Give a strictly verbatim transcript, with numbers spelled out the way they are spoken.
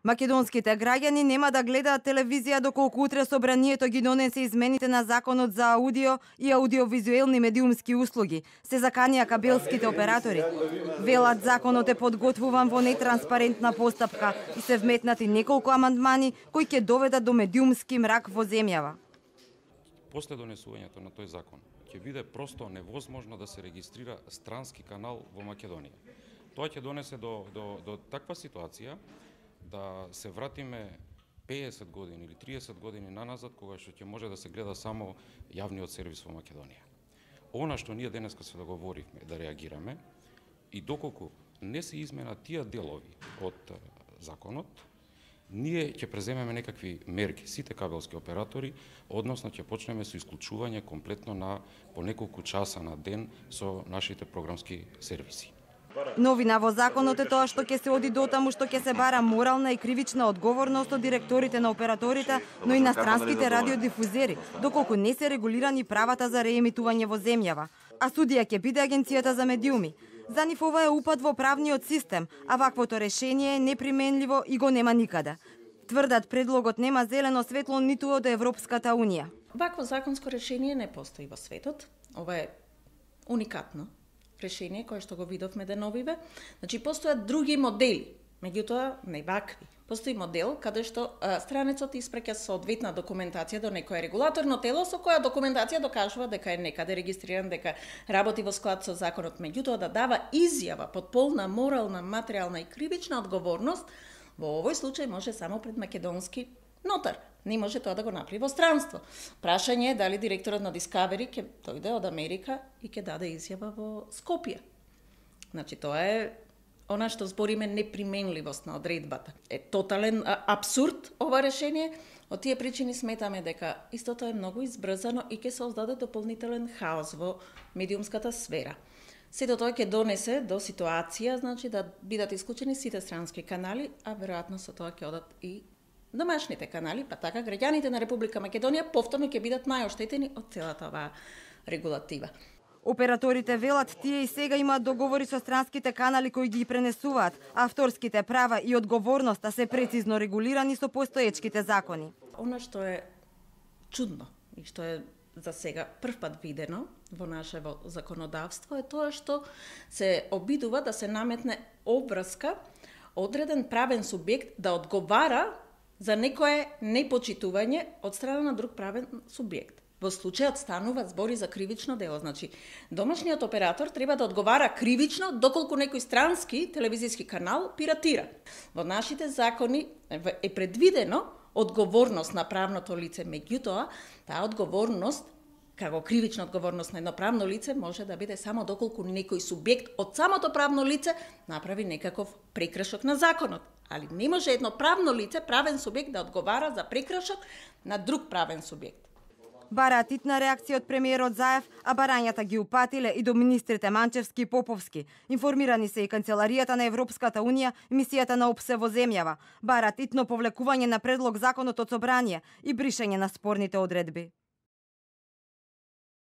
Македонските граѓани нема да гледаат телевизија доколку утре собранието ги донесе измените на законот за аудио и аудиовизуелни медиумски услуги. Се заканија кабелските оператори. Велат законот е подготвуван во нетранспарентна постапка и се вметнати неколку амандмани кои ќе доведат до медиумски мрак во земјава. После донесувањето на тој закон ќе биде просто невозможно да се регистрира странски канал во Македонија. Тоа ќе донесе до, до, до таква ситуација да се вратиме пеесет години или триесет години наназад, кога што ќе може да се гледа само јавниот сервис во Македонија. Она што ние денеска се договоривме да реагираме и доколку не се изменат тие делови од законот, ние ќе преземеме некакви мерки, сите кабелски оператори, односно ќе почнеме со исклучување комплетно на по неколку часа на ден со нашите програмски сервиси. Новина во законот е тоа што ќе се оди дотаму што ќе се бара морална и кривична одговорност од директорите на операторите, но и на странските радиодифузери, доколку не се регулирани правата за реемитување во земјава. А судија ќе биде Агенцијата за медиуми. За нив ова е упад во правниот систем, а ваквото решение е неприменливо и го нема никаде. Тврдат предлогот нема зелено светло ниту од Европската унија. Вакво законско решение не постои во светот. Ова е уникатно решение кое што го видовме деновиве. Значи постојат други модели, меѓутоа не вакви. Постои модел каде што а, странецот испраќа соодветна документација до некое регулаторно тело со која документација докажува дека е некаде регистриран, дека работи во склад со законот, меѓутоа да дава изјава под полна морална, материјална и кривична одговорност, во овој случај може само пред македонски нотар. Не може тоа да го направи во странство. Прашање е дали директорот на Discovery ќе дојде од Америка и ќе даде изјава во Скопје. Значи тоа е она што збориме неприменливост на одредбата. Е тотален а, абсурд ова решение. Од тие причини сметаме дека истото е многу избрзано и ќе создаде дополнителен хаос во медиумската сфера. Сето тоа ќе донесе до ситуација, значи да бидат исклучени сите странски канали, а веројатно со тоа ќе одат и домашните канали, па така граѓаните на Република Македонија повторно ќе бидат најоштетени од целата оваа регулатива. Операторите велат тие и сега имаат договори со странските канали кои ги пренесуваат, а авторските права и одговорноста се прецизно регулирани со постоечките закони. Она што е чудно и што е за сега првпат видено во нашето законодавство е тоа што се обидува да се наметне обврска одреден правен субјект да одговара за некое непочитување од страна на друг правен субјект. Во случајот станува збори за кривично дело, значи домашниот оператор треба да одговара кривично доколку некој странски телевизиски канал пиратира. Во нашите закони е предвидено одговорност на правното лице, меѓутоа таа одговорност како кривична одговорност на едно правно лице може да биде само доколку некој субјект од самото правно лице направи некаков прекршок на законот. Али не може едно правно лице, правен субјект да одговара за прекршок на друг правен субјект. Бараат итна реакција од премиерот Заев, а барањата ги упатиле и до министрите Манчевски и Поповски. Информирани се и Канцеларијата на Европската унија, мисијата на ОПСЕ во земјава. Бараат итно повлекување на предлог законот од собрание и бришење на спорните одредби.